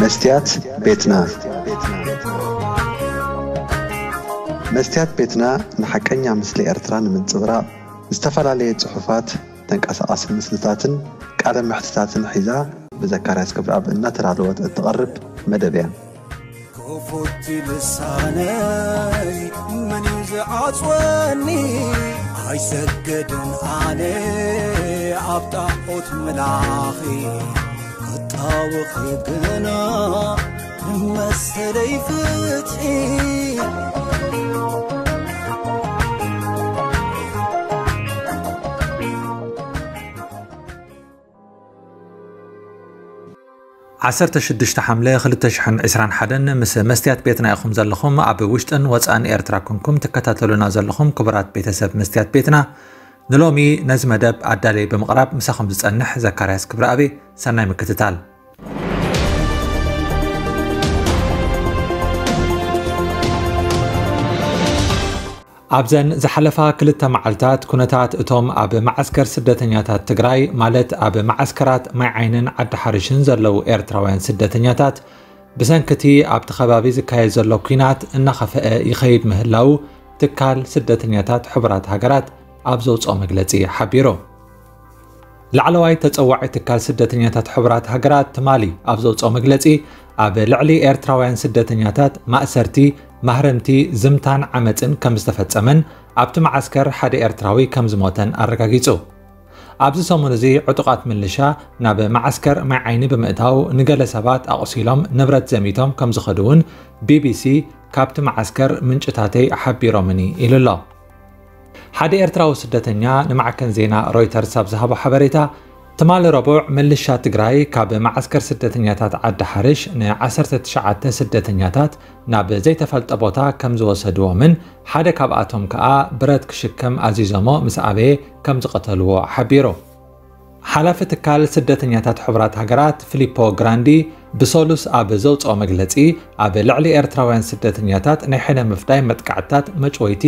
መስትያት ቤትና። መስትያት ቤትና ንሓቀኛ ምስሊ ኤርትራ ንምንጽብራቕ ዝተፈላለየ ጽሑፋት፣ ተንቀሳቓሲ ምስልታትን ቃለ መሕትታትን ሒዛ ብዘካርያስ ክብረኣብ እናተዳለወት እትቐርብ መደብ እያ። ክፉት ልሳነይ መን እዩ ዝዓጽወኒ? ኣይሰገድን ኣነ ኣብ ጣዖት ምላኺ፣ ክጣወኺ ግና ንመሰለይ ፍትሒ። ዓሰርተ ሽዱሽተ ሓምለ ክልተ ሽሕን ዕስራን ሓደን ምስ መስትያት ቤትና ኢኹም ዘለኹም። ኣብ ውሽጥን ወጻእን ኤርትራ ኩንኩም ትከታተሉና ዘለኹም ክቡራት ቤተሰብ መስትያት ቤትና፣ ንሎሚ ነዚ መደብ ኣዳልየ ብምቕራብ ምሳኹም ዝጸንሕ ዘካርያስ ክብረኣብ። ሰናይ ምክትታል። ኣብዘን ዝሓለፋ ክልተ መዓልታት ኩነታት እቶም ኣብ መዓስከር ስደተኛታት ትግራይ፣ ማለት ኣብ መዓስከራት ማይ ዓይንን ዓዲ ሓርሽን ዘለዉ ኤርትራውያን ስደተኛታት፣ ብሰንኪ እቲ ኣብቲ ከባቢ ዝካየድ ዘሎ ኲናት እናኸፍአ ይኸይድ ምህላዉ ትካል ስደተኛታት ሕቡራት ሃገራት ኣብ ዘውፅኦ መግለፂ ሓቢሩ። ላዕለዋይ ተጸዋዒ ትካል ስደተኛታት ሕቡራት ሃገራት ትማሊ ኣብ ዘውፅኦ መግለጺ፣ ኣብ ልዕሊ ኤርትራውያን ስደተኛታት ማእሰርቲ፣ ማህረምቲ፣ ዝምታን ዓመጽን ከም ዝተፈጸመን ኣብቲ መዓስከር ሓደ ኤርትራዊ ከም ዝሞተን ኣረጋጊጹ። ኣብዚ ሰሙን እዚ ዕጡቓት ምልሻ ናብ መዓስከር ማይ ዓይኒ ብምእታው ንገለ ሰባት ኣቑሲሎም ንብረት ዘሚቶም ከም ዝኸዱ እውን ቢቢሲ ካብቲ መዓስከር ምንጭታተይ ሓቢሮምኒ ኢሉ ኣሎ። ሓደ ኤርትራዊ ስደተኛ ንማዕከን ዜና ሮይተርስ ኣብ ዝሃቦ ሓበሬታ፣ ትማሊ ረቡዕ ምልሻ ትግራይ ካብ መዓስከር ስደተኛታት ዓዲ ሓርሽ ን ዓሰርተ ትሽዓተ ስደተኛታት ናብ ዘይተፈልጠ ቦታ ከም ዝወሰድዎምን ሓደ ካብኣቶም ከኣ ብረት ክሽከም ኣዚዞሞ ምስ ኣበየ ከም ዝቐተልዎ ሓቢሩ። ሓላፊ ትካል ስደተኛታት ሕቡራት ሃገራት ፊሊፖ ግራንዲ ብሰሉስ ኣብ ዘውፅኦ መግለፂ፣ ኣብ ልዕሊ ኤርትራውያን ስደተኛታት ናይ ሕነ ምፍዳይ መጥቃዕትታት፣ መጭወይቲ፣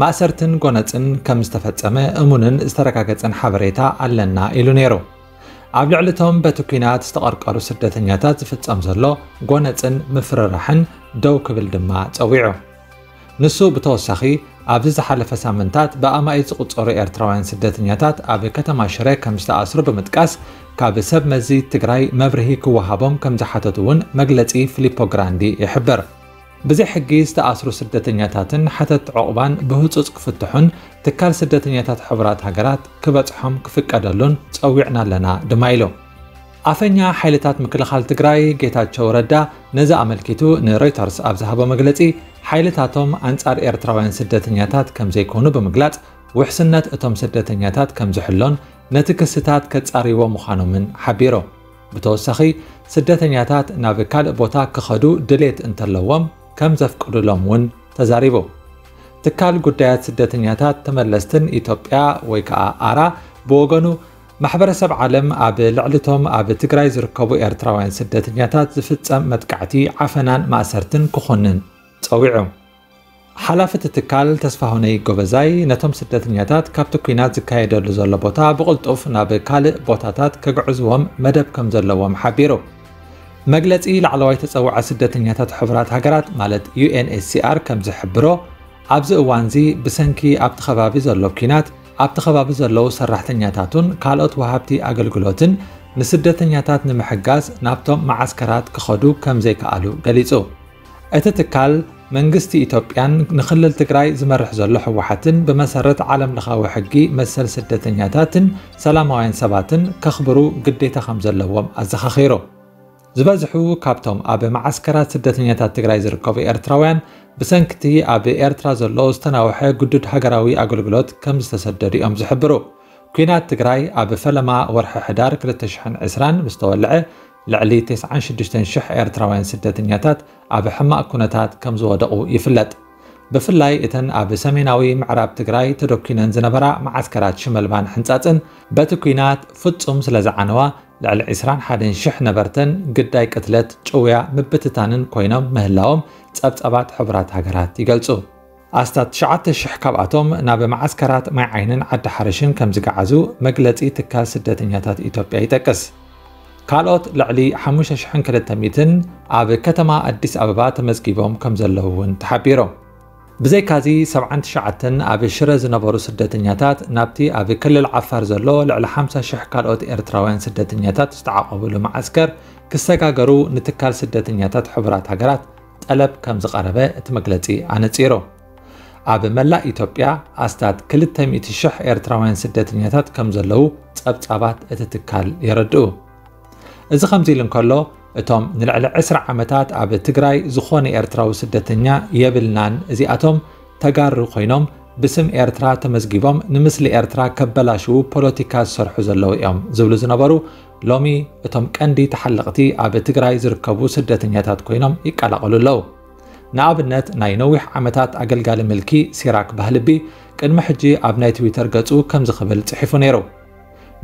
ማእሰርትን ጎነፅን ከም ዝተፈጸመ እሙንን ዝተረጋገጸን ሓበሬታ ኣለና ኢሉ ነይሩ። ኣብ ልዕሊ እቶም በቲ ኲናት ዝተቐርቀሩ ስደተኛታት ዝፍጸም ዘሎ ጎነፅን ምፍርራሕን ደው ክብል ድማ ጸዊዑ። ንሱ ብተወሳኺ፣ ኣብዚ ዝሓለፈ ሳምንታት ብኣማኢት ዝቑጸሩ ኤርትራውያን ስደተኛታት ኣብ ከተማ ሽረ ከም ዝተኣስሩ ብምጥቃስ፣ ካብ ሰብ መዚ ትግራይ መብርሂ ክወሃቦም ከም ዝሓተቱ እውን መግለጺ ፊሊፖ ግራንዲ ይሕብር። ብዘይ ሕጊ ዝተኣስሩ ስደተኛታትን ሓተትቲ ዑቕባን ብህጹጽ ክፍትሑን ትካል ስደተኛታት ሕቡራት ሃገራት ክበጽሖም ክፍቀደሉን ጸዊዕና ኣለና ድማ ኢሉ። ኣፈኛ ሓይልታት ምክልኻል ትግራይ ጌታቸው ረዳ ነዚ ኣመልኪቱ ንሮይተርስ ኣብ ዝሃቦ መግለጺ፣ ሓይልታቶም ኣንጻር ኤርትራውያን ስደተኛታት ከም ዘይኮኑ ብምግላጽ፣ ውሕስነት እቶም ስደተኛታት ከም ዝሕሎን ነቲ ክስታት ከጻርይዎ ምዃኖምን ሓቢሩ። ብተወሳኺ፣ ስደተኛታት ናብ ካልእ ቦታ ክኸዱ ድሌት እንተለዎም ከም ዘፍቅዱሎም እውን ተዛሪቡ። ትካል ጉዳያት ስደተኛታት ተመለስትን ኢትዮጵያ ወይ ከዓ ኣራ ብወገኑ፣ ማሕበረሰብ ዓለም ኣብ ልዕሊ እቶም ኣብ ትግራይ ዝርከቡ ኤርትራውያን ስደተኛታት ዝፍጸም መጥቃዕቲ፣ ዓፈናን ማእሰርትን ክኹንን ጸዊዑ። ሓላፊ እቲ ትካል ተስፋሁነይ ጎበዛይ ነቶም ስደተኛታት ካብቲ ኲናት ዝካየደሉ ዘሎ ቦታ ብቕልጡፍ ናብ ካልእ ቦታታት ከግዕዝዎም መደብ ከም ዘለዎም ሓቢሩ። መግለጺ ላዕለዋይ ተጸዋዒ ስደተኛታት ሕቡራት ሃገራት ማለት ዩ ኤን ኤች ሲ ኣር ከም ዝሕብሮ፣ ኣብዚ እዋንዚ ብሰንኪ ኣብቲ ከባቢ ዘሎ ኲናት፣ ኣብቲ ከባቢ ዘለዉ ሰራሕተኛታቱን ካልኦት ወሃብቲ ኣገልግሎትን ንስደተኛታት ንምሕጋዝ ናብቶም መዓስከራት ክኸዱ ከም ዘይከኣሉ ገሊጹ። እቲ ትካል፣ መንግስቲ ኢትዮጵያን ንክልል ትግራይ ዝመርሕ ዘሎ ህወሓትን ብመሰረት ዓለም ለኻዊ ሕጊ መሰል ስደተኛታትን ሰላማውያን ሰባትን ከኽብሩ ግዴታ ከም ዘለዎም ኣዘኻኺሩ። ዝበዝሑ ካብቶም ኣብ መዓስከራት ስደተኛታት ትግራይ ዝርከቡ ኤርትራውያን፣ ብሰንኪ እቲ ኣብ ኤርትራ ዘሎ ዝተናውሐ ግዱድ ሃገራዊ ኣገልግሎት ከም ዝተሰደዱ እዮም ዝሕብሩ። ኲናት ትግራይ ኣብ ፈለማ ወርሒ ሕዳር ክልተ ሽሕን ዕስራን ምስ ተወልዐ፣ ልዕሊ ተስዓን ሽዱሽተን ሽሕ ኤርትራውያን ስደተኛታት ኣብ ሕማቕ ኩነታት ከም ዝወደቑ ይፍለጥ። ብፍላይ እተን ኣብ ሰሜናዊ ምዕራብ ትግራይ ተደኲነን ዝነበራ መዓስከራት ሽመልባን ሕንጻጽን፣ በቲ ኲናት ፍጹም ስለ ዝዓነዋ፣ ልዕሊ ዕስራን ሓደን ሽሕ ነበርተን ግዳይ ቅትለት፣ ጭውያ፣ ምብትታንን ኮይኖም ምህላዎም ጸብጻባት ሕቡራት ሃገራት ይገልጹ። ኣስታት ትሽዓተ ሽሕ ካብኣቶም ናብ መዓስከራት ማይ ዓይንን ዓዲ ሓርሽን ከም ዝገዓዙ መግለጺ ትካል ስደተኛታት ኢትዮጵያ ይጠቅስ። ካልኦት ልዕሊ ሓሙሽተ ሽሕን ክልተ ሚእትን ኣብ ከተማ ኣዲስ ኣበባ ተመዝጊቦም ከም ዘለዉ እውን ተሓቢሩ። ብዘይካዚ ሰብዓን ትሽዓተን ኣብ ሽረ ዝነበሩ ስደተኛታት ናብቲ ኣብ ክልል ዓፋር ዘሎ ልዕሊ ሓምሳ ሽሕ ካልኦት ኤርትራውያን ስደተኛታት ዝተዓቖብሉ መዓስከር ክሰጋገሩ ንትካል ስደተኛታት ሕቡራት ሃገራት ጠለብ ከም ዝቐረበ እቲ መግለጺ ኣነጺሩ። ኣብ መላእ ኢትዮጵያ ኣስታት ክልተ ሚእቲ ሽሕ ኤርትራውያን ስደተኛታት ከም ዘለዉ ጸብጻባት እቲ ትካል የረድኡ። እዚ ከምዚ ኢሉ እንከሎ፣ እቶም ንልዕሊ ዕስራ ዓመታት ኣብ ትግራይ ዝኾነ ኤርትራዊ ስደተኛ የብልናን፣ እዚኣቶም ተጋሩ ኮይኖም ብስም ኤርትራ ተመዝጊቦም ንምስሊ ኤርትራ ከበላሽዉ ፖለቲካ ዝሰርሑ ዘለዉ እዮም ዝብሉ ዝነበሩ፣ ሎሚ እቶም ቀንዲ ተሓለቕቲ ኣብ ትግራይ ዝርከቡ ስደተኛታት ኮይኖም ይቀላቐሉ ኣለዉ። ንኣብነት፣ ናይ ነዊሕ ዓመታት ኣገልጋሊ ምልኪ ሲራክ ባህልቢ ቅድሚ ሕጂ ኣብ ናይ ትዊተር ገጹ ከምዚ ክብል ጽሒፉ ነይሩ።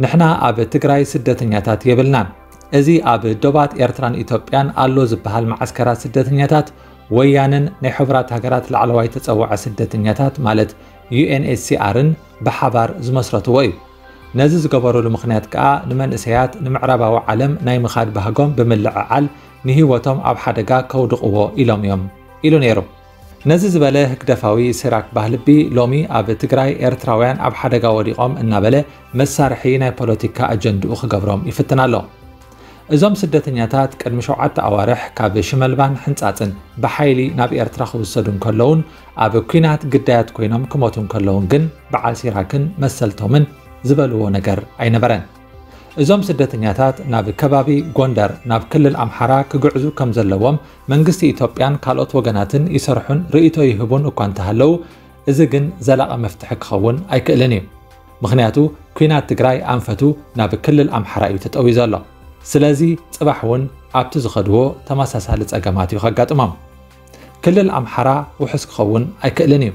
ንሕና ኣብ ትግራይ ስደተኛታት የብልናን። እዚ ኣብ ዶባት ኤርትራን ኢትዮጵያን ኣሎ ዝበሃል መዓስከራት ስደተኛታት ወያነን ናይ ሕቡራት ሃገራት ላዕለዋይ ተጸዋዒ ስደተኛታት ማለት ዩ ኤን ኤች ሲ ኣርን ብሓባር ዝመስረትዎ እዩ። ነዚ ዝገበሩሉ ምኽንያት ከኣ ንመንእሰያት ንምዕራባዊ ዓለም ናይ ምኻድ ባህጎም ብምልዕዓል ንህይወቶም ኣብ ሓደጋ ከውድቕዎ ኢሎም እዮም ኢሉ ነይሩ። ነዚ ዝበለ ህግደፋዊ ሲራክ ባህልቢ ሎሚ ኣብ ትግራይ ኤርትራውያን ኣብ ሓደጋ ወዲቖም እናበለ መሳርሒ ናይ ፖለቲካ ኣጀንድኡ ክገብሮም ይፍትን ኣሎ። እዞም ስደተኛታት ቅድሚ ሸውዓተ ኣዋርሕ ካብ ሽመልባን ሕንጻጽን ብሓይሊ ናብ ኤርትራ ክውሰዱ እንከለውን ኣብ ኲናት ግዳያት ኮይኖም ክሞቱ እንከለውን ግን በዓል ሲራክን መሰልቶምን ዝበልዎ ነገር ኣይነበረን። እዞም ስደተኛታት ናብ ከባቢ ጎንደር ናብ ክልል ኣምሓራ ክግዕዙ ከም ዘለዎም መንግስቲ ኢትዮጵያን ካልኦት ወገናትን ይሰርሑን ርእይቶ ይህቡን እኳ እንተሃለዉ፣ እዚ ግን ዘላቒ መፍትሒ ክኸውን ኣይክእልን እዩ። ምኽንያቱ፣ ኲናት ትግራይ ኣንፈቱ ናብ ክልል ኣምሓራ እዩ ተጠውዩ ዘሎ። ስለዚ፣ ጽባሕ እውን ኣብቲ ዝኸድዎ ተመሳሳሊ ጸገማት እዩ ከጋጥሞም። ክልል ኣምሓራ ውሑስ ክኸውን ኣይክእልን እዩ።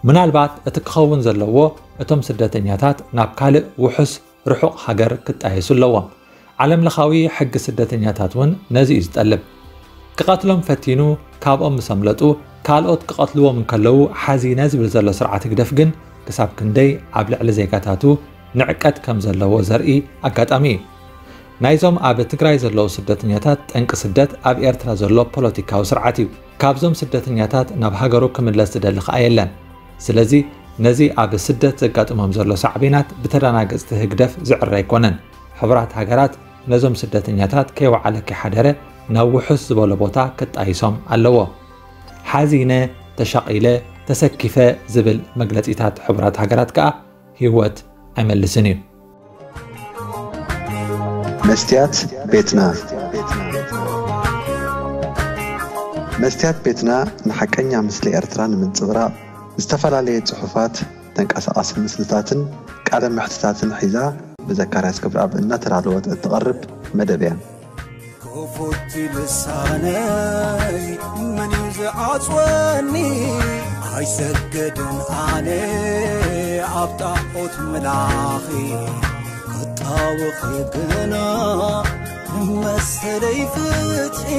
ምናልባት እቲ ክኸውን ዘለዎ፣ እቶም ስደተኛታት ናብ ካልእ ውሑስ ርሑቕ ሃገር ክጣየሱ ኣለዎም። ዓለምለኻዊ ሕጊ ስደተኛታት እውን ነዚ እዩ ዝጠልብ። ክቐትሎም ፈቲኑ ካብኦም ምስ ኣምለጡ፣ ካልኦት ክቐትልዎም እንከለዉ ሓዚነ ዝብል ዘሎ ስርዓት ህግደፍ ግን ክሳብ ክንደይ ኣብ ልዕሊ ዜጋታቱ ንዕቀት ከም ዘለዎ ዘርኢ ኣጋጣሚ እዩ። ናይዞም ኣብ ትግራይ ዘለዉ ስደተኛታት ጠንቂ ስደት ኣብ ኤርትራ ዘሎ ፖለቲካዊ ስርዓት እዩ። ካብዞም ስደተኛታት ናብ ሃገሩ ክምለስ ዝደሊ ከኣ የለን። ስለዚ ነዚ ኣብ ስደት ዘጋጥሞም ዘሎ ሳዕቤናት ብተደናገጽቲ ህግደፍ ዝዕረ ኣይኮነን። ሕቡራት ሃገራት ነዞም ስደተኛታት ከይወዓለ ከይሓደረ ናብ ውሑስ ዝበሎ ቦታ ክጣይሶም ኣለዎ። ሓዚነ፣ ተሻቒለ፣ ተሰኪፈ ዝብል መግለጺታት ሕቡራት ሃገራት ከኣ ህይወት ኣይመልስን እዩ። መስትያት ቤትና። መስትያት ቤትና ንሓቀኛ ምስሊ ኤርትራ ንምንጽብራቕ ዝተፈላለየ ጽሑፋት፣ ተንቀሳቓሲ ምስልታትን ቃለ መሕትታትን ሒዛ ብዘካርያስ ገብረኣብ እናተዳለወት እትቐርብ መደብ እያ። ክፉት ልሳነይ መን እዩ ዝዓጽወኒ? ኣይሰግድን ኣነ ኣብ ጣዖት ምላኺ፣ ክጣወኺ ግና ንመሰለይ ፍትሒ።